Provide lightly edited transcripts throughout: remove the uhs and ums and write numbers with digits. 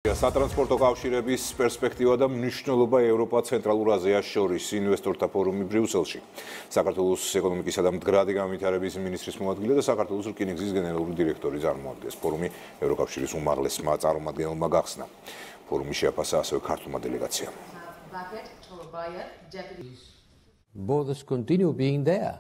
სატრანსპორტო კავშირების პერსპექტივა და მნიშვნელობა ევროპა ცენტრალურ აზიას შორის ინვესტორთა ფორუმი ბრიუსელში. საქართველოს ეკონომიკისა და მდგრადი განვითარების მინისტრის მოადგილე და საქართველოს რკინიგზის გენერალური დირექტორი წარმოადგენს. ფორუმი ევროკავშირის უმაღლესმა წარმომადგენელმა გახსნა. ფორუმი შეაფასა ასევე ქართულმა დელეგაციამ.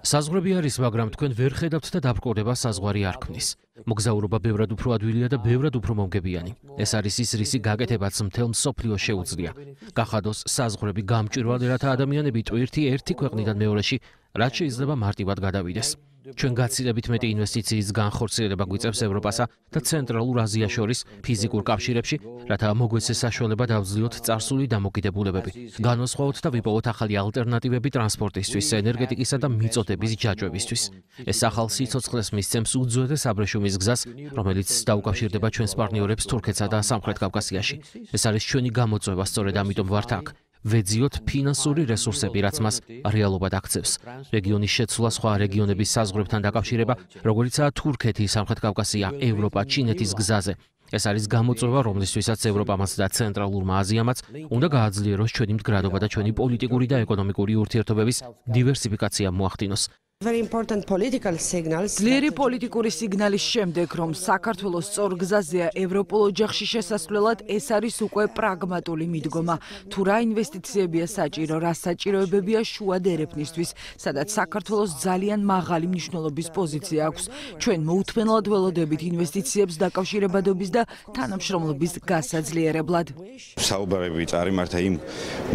საზღვრები არის, მაგრამ თქვენ ვერ ხედავთ და დაბრკოლება საზღვარი არ ქმნის. მოგზაურობა ბევრად უფრო ადვილია და ბევრად უფრო მომგებიანი. ეს არის ის რისი გაკეთებაც მთელ მსოფლიოს შეუძლია. გახადოს საზღვრები გამჭვირვალე, რათა ადამიანები ტვირთი ერთი ქვეყნიდან მეორეში რაც შეიძლება მარტივად გადავიდეს. ჩვენ გაცილებით მეტი ინვესტიციის განხორციელება გვიწევს ევროპასა და ცენტრალურ აზიას შორის ფიზიკურ კავშირებში, რათა მოგვეცეს საშუალება დავძლიოთ წარსული დამოკიდებულებები, განვასხვაოთ და ვიპოვოთ ახალი ალტერნატივები ტრანსპორტისთვის, ენერგეტიკისა და მიწოდების ჯაჭვებისთვის. ეს ახალ სიცოცხლეს მისცემს უძველეს აბრეშუმის გზას, რომელიც დაუკავშირდება ჩვენს პარტნიორებს თურქეთსა და სამხრეთ კავკასიაში. ეს არის ჩვენი გამოწვევა, სწორედ ამიტომ ვართ აქ. ვეძიოთ ფინანსური რესურსები, რაც მას რეალობად აქცევს. რეგიონის შეცვლა, სხვა რეგიონების საზღვრებთან დაკავშირება, როგორიცაა თურქეთი, სამხრეთ კავკასია, ევროპა, ჩინეთის გზაზე. ეს არის გამოწვევა, რომლისთვისაც ევროპამაც და ცენტრალურმა აზიამაც უნდა გააძლიეროს ჩვენი მდგრადობა და ჩვენი პოლიტიკური და ეკონომიკური ურთიერთობების დივერსიფიკაცია მოახდინოს. ძლიერი პოლიტიკური სიგნალის შემდეგ, რომ საქართველოს სწორ გზაზეა ევროპულ ოჯახში შესასვლელად, ეს არის უკვე პრაგმატული მიდგომა. თუ რა ინვესტიციებია საჭირო, რა საჭიროებებია შუა დერეფნისთვის, სადაც საქართველოს ძალიან მაღალი მნიშვნელობის პოზიცია აქვს. ჩვენ მოუთმენლად ველოდებით ინვესტიციებს დაკავშირებადობის და თანამშრომლობის გასაძლიერებლად. საუბარები წარიმართა იმ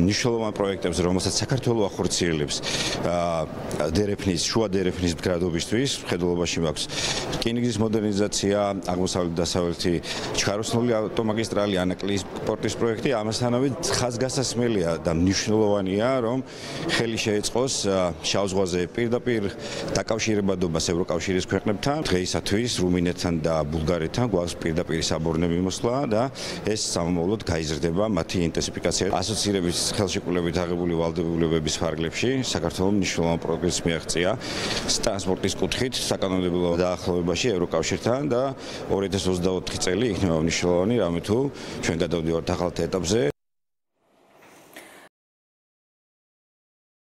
მნიშვნელოვან პროექტებზე, რომელსაც საქართველო ახორციელებს დერეფნის შუა დერეფნის მდგრადობისთვის, მხედველობაში მაქვს რკინიგზის მოდერნიზაცია, აღმოსავლეთ-დასავლეთი ჩქაროსნული ავტომაგისტრალი, ანაკლიის პორტის პროექტი, ამასთანავე ხაზგასასმელია და მნიშვნელოვანია, რომ ხელი შეეწყოს შავ ზღვაზე პირდაპირ დაკავშირებადობას ევროკავშირის ქვეყნებთან. დღეისათვის რუმინეთთან და ბულგარეთთან გვაქვს პირდაპირ საბორნე მოსვლა და ეს სამომავლოდ გაიზრდება მათი ინტენსიფიკაცია. ასოცირების ხელშეკრულებით აღებული ვალდებულებების ფარგლებში საქართველოს მნიშვნელოვან პროგრესს მიაღწია ტრანსპორტის კუთხით საკანონმდებლო დაახლოებაში ევროკავშირთან და 2024 წელი იქნება მნიშვნელოვანი, რამე თუ ჩვენ გადავდივართ ახალ ეტაპზე.